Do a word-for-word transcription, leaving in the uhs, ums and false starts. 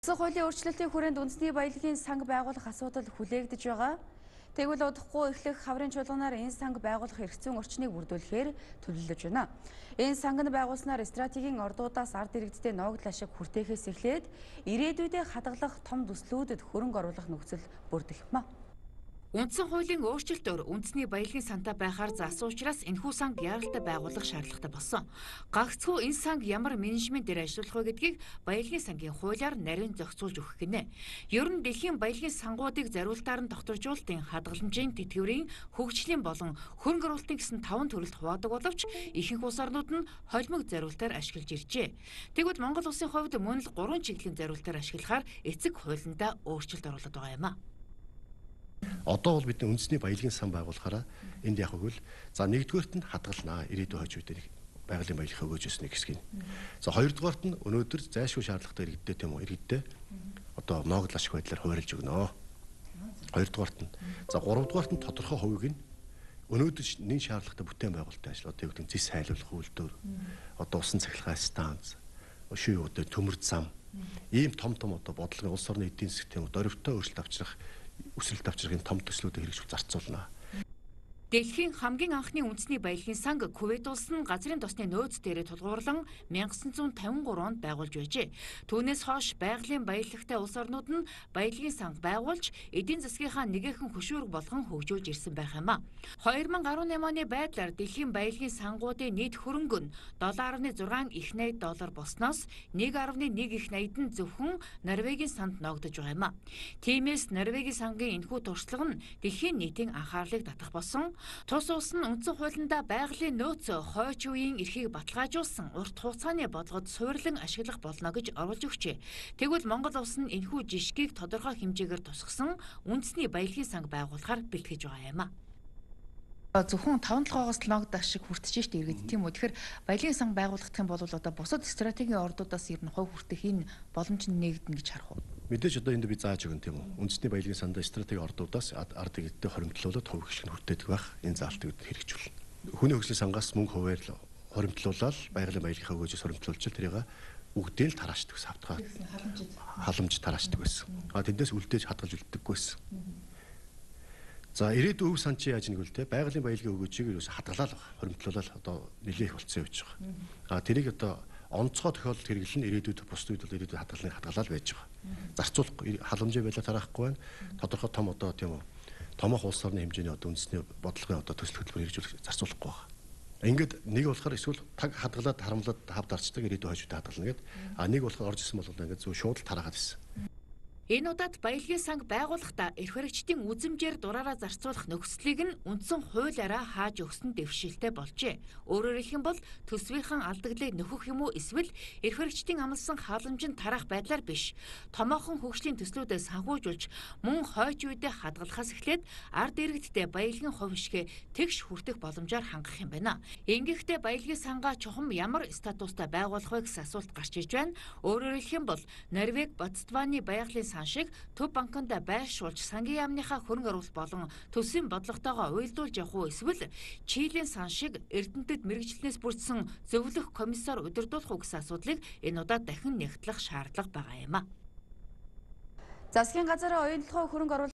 Улсын хуулийн өөрчлөлтийн хүрээнд үндэсний баялагын санг байгуулах асуудал хүлээгдэж байгаа. Тэгвэл удахгүй эхлэх хаврын чуулганаар энэ санг байгуулах эрхцэн орчныг бүрдүүлэхээр төлөвлөж байна. Энэ санг нь байгуулснаар стратегийн ордуудаас ард иргэдтэй ногдол ашиг хүртээхээс эхлээд ирээдүйдээ хадгалах том төслүүдэд хөрөнгө оруулах нөхцөл бүрдэх юм а. Үндсэн хуулийн өөрчлөлтөөр үндэсний баялагын сантай байхаар заасан учраас энэхүү санг яаралтай байгуулах шаардлагатай болсон. Гагцхүү энэ санг ямар менежментээр ажиллах вэ гэдгийг баялагын сангийн хуулиар нарийн зохицуулж өгөх гинэ. Ер нь дэлхийн баялагын сангуудыг зориултаар нь тогтворжуулалтын хадгаламжийн тэтгэврийн хөгжлийн болон хөрөнгө оруулалтын гэсэн таван төрөлд хуваадаг боловч ихэнх улс орнууд нь холимог зориултаар ашиглаж иржээ. Тэгвэл Монгол улсын хувьд мөн л гурван чиглэлийн зориултаар ашиглахаар эцэг хуулиндаа өөрчлөлт оруулаад байгаа юм а. Одоо бол бидний үндэсний баялагын сан байгуулахаараа энд яг үгүй л за нэгдүгээрт нь хадгалнаа ирээдүйн хойч үедээ байгалийн баялаг өгөөж өснө гэсгийг. За хоёрдугаарт нь өнөөдөр зайлшгүй шаардлагатай иргэдтэй тийм үү иргэдтэй одоо ногдол ашиг байдлаар хуваарлж өгнө. Хоёрдугаарт нь за гуравдугаарт нь тодорхой хувийг нь өнөөдөр нэн шаардлагатай бүтээн байгуулалтын ажил одоо юу гэдэг зис хайлуулах үйлдвэр одоо усан цахилгаан станц шүй одоо төмөр зам ийм том том одоо бодлогын улс орны эдийн засгийн тийм дөрвөлтөө өөрчлөлт авчрах үсрэлт авчрахын том төслүүдийг хэрэгжүүл зарцуулна. Дэлхийн хамгийн анхны үндэсний баялагын санг Кувейт улс нь газрын тосны нөөц дээрээ тулгуурлан мянга санаа зуун тавин гурав онд байгуулж байжээ. Түүнээс хойш байгалийн баялагтай улс орнууд нь баялагын санг байгуулж эдийн засгийнхаа нэгэн хөшүүрэг болгон хөгжүүлж ирсэн байх юм а. хоёр мың арван наймын оны байдлаар дэлхийн баялагын сангуудын нийт хөрөнгө нь доллар нэ зургаан их найд доллар болсноос нэг нэ нэг их найд нь зөвхөн Норвегийн санд ногдож байгаа юм а. Тиймээс Норвегийн сангийн энэхүү туршлага нь дэлхийн нийтийн анхаарлыг татах болсон. Тус улс нь үндсэн хуулиндаа байгалийн нөөц хойч үеийн эрхийг баталгаажуулсан урт хугацааны бодлогод суйрлан ашиглах болно гэж оруулж өгчээ. Тэгвэл Монгол улс нь энэхүү жишгийг тодорхой хэмжээгээр тусгасан үндэсний баялагын санг байгуулахаар бэлтгэж байгаа юм а. Зөвхөн таван толгоогоос л ногд ашиг хүртэж штэ иргэд тийм үү. Тэгэхээр баялагын санг байгуулах гэх юм бол одоо бусад стратегийн ордуудаас ер нь хувь хүртэх энэ боломж нь нэгдэнэ гэж харах уу? Мэдээж одоо энд би зааж өгөн тийм үү. Үндэсний баялагын сандаа стратеги ордуудаас ард иргэдтэй хоримтлуулаад хувь гişг нь хүртээдэг байх энэ заалтыг хэрэгжүүлнэ. Хүний хөгжлийн сангаас мөнгө хуваар хоримтлуулаад байгалийн баялагын хөгжөөс хоримтлуулж тэрийг үгдээ л тараашдаг ус автгаа. Халамж тараашдаг байсан. А тэндээс үлдээж хадгалж үлддэггүй байсан. За ирээдүйн өв сан чи яаж нэг үлдээ байгалийн баялагын өгөөжийг юу хадгалаа л хоримтлуулаад одоо нэлээх болцсон явж байгаа. А тэрийг одоо онцгой тохиолдолд хэрэглэн ирээдүйд бусд үед бол ирээдүйд хадгалныг хадгалаад байж байгаа. Зарцуулахгүй халамжийн байдлаар тараахгүй байна. Тодорхой том одоо тийм үү томоохон улс орны хэмжээний одоо үндэсний бодлогын одоо төсөл хөтөлбөр хэрэгжүүлэх зарцуулахгүй байна. Ингээд нэг болохоор эсвэл таг хадгалаад харамлаад хав дарчдаг ирээдүйн хойштой хадгална гэд а нэг болохоор орж исэн бол ингээд зөв шууд л тараагаад ирсэн. Энэ удаад баялагын санг байгуулахдаа эрх баригчдын үзэмжээр дураараа зарцуулах нөхцөлийг нь үндсэн хуулиараа хааж өгсөн дэвшилтэй болжээ. Өөрөөр хэлэх юм бол төсвийнхэн алдагдлыг нөхөх юм уу эсвэл эрх баригчдын амласан халамжинд тарах байдлаар биш. Томоохон хөгжлийн төслүүдэд санхүүжүүлж мөн хойч үедээ хадгалахаас эхлээд ард иргэдтэй баялагын хувь хишгээ тэгш хүртэх боломжоор хангах юм байна. Ингэхдээ баялагын сангаа чухам ямар статустай байгуулах вэ гэсэн асуулт гарч иж байна. Өөрөөр хэлэх юм бол Норвеги, Ботсваны баялагын шиг төв банкнд байршуулж сангийн яамныхаа хөрөнгө оруулалт болон төсвийн бодлоготойгоо уялдуулж явах уу эсвэл Чилийн сан шиг Эрдэнэтэд мэргэжлэнээс бүрдсэн зөвлөх комиссар удирдуулах уу гэсэн асуудлыг энэ удаад дахин нэгтлэх шаардлага байгаа юм а. Засгийн газар оюун толгой хөрөнгө оруулалт